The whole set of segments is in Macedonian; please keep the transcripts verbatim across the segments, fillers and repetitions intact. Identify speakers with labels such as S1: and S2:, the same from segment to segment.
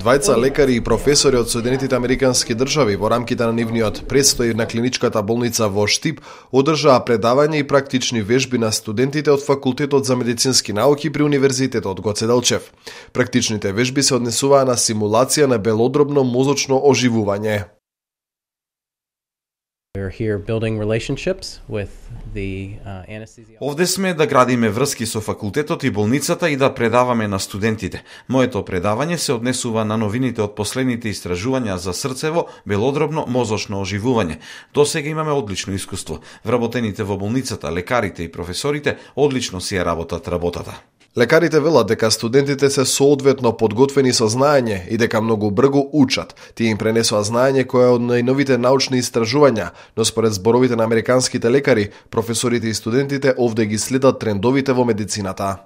S1: Двајца лекари и професори од Соединетите Американски држави во рамките на нивниот престој на клиничката болница во Штип одржаа предавања и практични вежби на студентите од Факултетот за медицински науки при Универзитетот Гоце Делчев. Практичните вежби се однесуваа на симулација на белодробно мозочно оживување.
S2: Овде сме да градиме врски со факултетот и болницата и да предаваме на студентите. Моето предавање се однесува на новините од последните истражувања за срцево, белодробно мозочно оживување. Досега имаме одлично искуство. Вработените во болницата, лекарите и професорите одлично си ја работат работата.
S1: Лекарите велат дека студентите се соодветно подготвени со знаење и дека многу брзо учат. Тие им пренесоа знаење кое е од најновите научни истражувања, но според зборовите на американските лекари, професорите и студентите овде ги следат трендовите во медицината.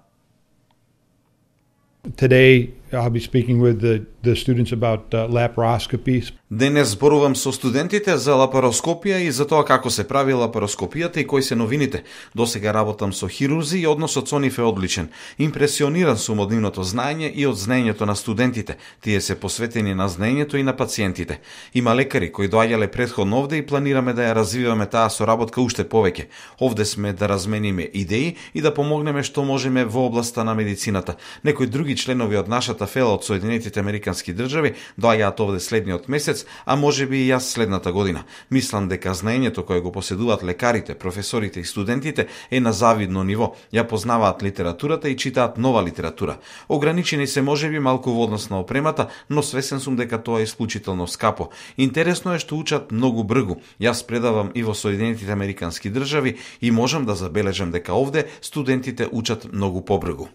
S3: Today I'll be speaking with the, the students about uh, laparoscopies.
S2: Денес зборувам со студентите за лапароскопија и за тоа како се прави лапароскопијата и кои се новините. Досега работам со хирурзи и односот со нив е одличен. Импресиониран сум од нивното знаење и од знаењето на студентите. Тие се посветени на знаењето и на пациентите. Има лекари кои доаѓале претходно овде и планираме да ја развиваме таа соработка уште повеќе. Овде сме да размениме идеи и да помогнеме што можеме во областа на медицината. Некои други членови од нашата фела од Соединетите Американски држави доаѓаат овде следниот месец, а може би и јас следната година. Мислам дека знаењето кое го поседуваат лекарите, професорите и студентите е на завидно ниво. Ја познаваат литературата и читаат нова литература. Ограничени се можеби малку во однос на опремата, но свесен сум дека тоа е исклучително скапо. Интересно е што учат многу брзо. Јас предавам и во Соединетите Американски држави и можам да забележам дека овде студентите учат многу побрзо.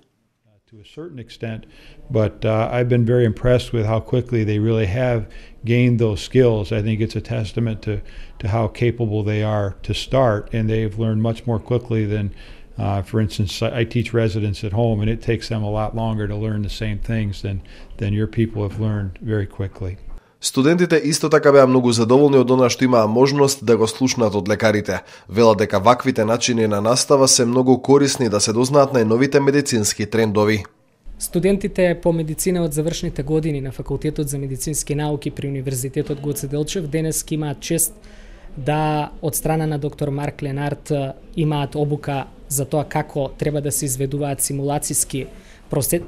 S3: To a certain extent, but uh, I've been very impressed with how quickly they really have gained those skills. I think it's a testament to, to how capable they are to start, and they've learned much more quickly than, uh, for instance, I teach residents at home, and it takes them a lot longer to learn the same things than, than your people have learned very quickly.
S1: Студентите исто така беа многу задоволни од она што имаа можност да го слушнат од лекарите. Велат дека ваквите начини на настава се многу корисни да се дознаат најновите медицински трендови.
S4: Студентите по медицина од завршните години на Факултетот за медицински науки при Универзитетот Гоце Делчев денес имаат чест да од страна на доктор Марк Ленард имаат обука за тоа како треба да се изведуваат симулациски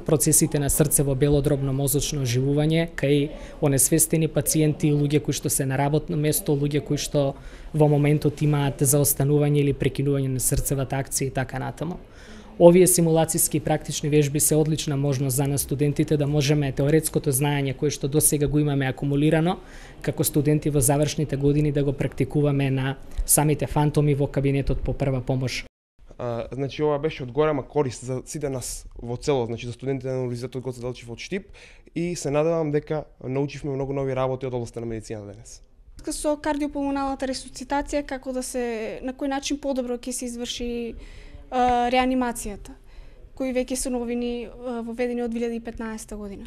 S4: процесите на срцево белодробно мозочно оживување кај онесвестени пациенти и луѓе кои што се на работно место, луѓе кои што во моментот имаат заостанување или прекинување на срцевата акција и така натаму. Овие симулациски и практични вежби се одлична можност за нас студентите да можеме теоретското знаење кое што досега го имаме акумулирано како студенти во завршните години да го практикуваме на самите фантоми во кабинетот по прва помош.
S5: А, значи ова беше од голема корист за сите нас во цело, значи за студентите на Универзитетот Гоце Делчев од Штип и се надевам дека научивме многу нови работи од областта на медицина денес.
S6: Со кардиопулмоналната ресуцитација како да се на кој начин подобро ќе се изврши а, реанимацијата, кои веќе се новини а, воведени од две илјади и петнаесета година.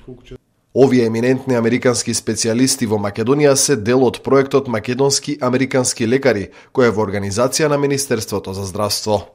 S1: Овие еминентни американски специјалисти во Македонија се дел од проектот Македонски американски лекари, кој е во организација на Министерството за здравство.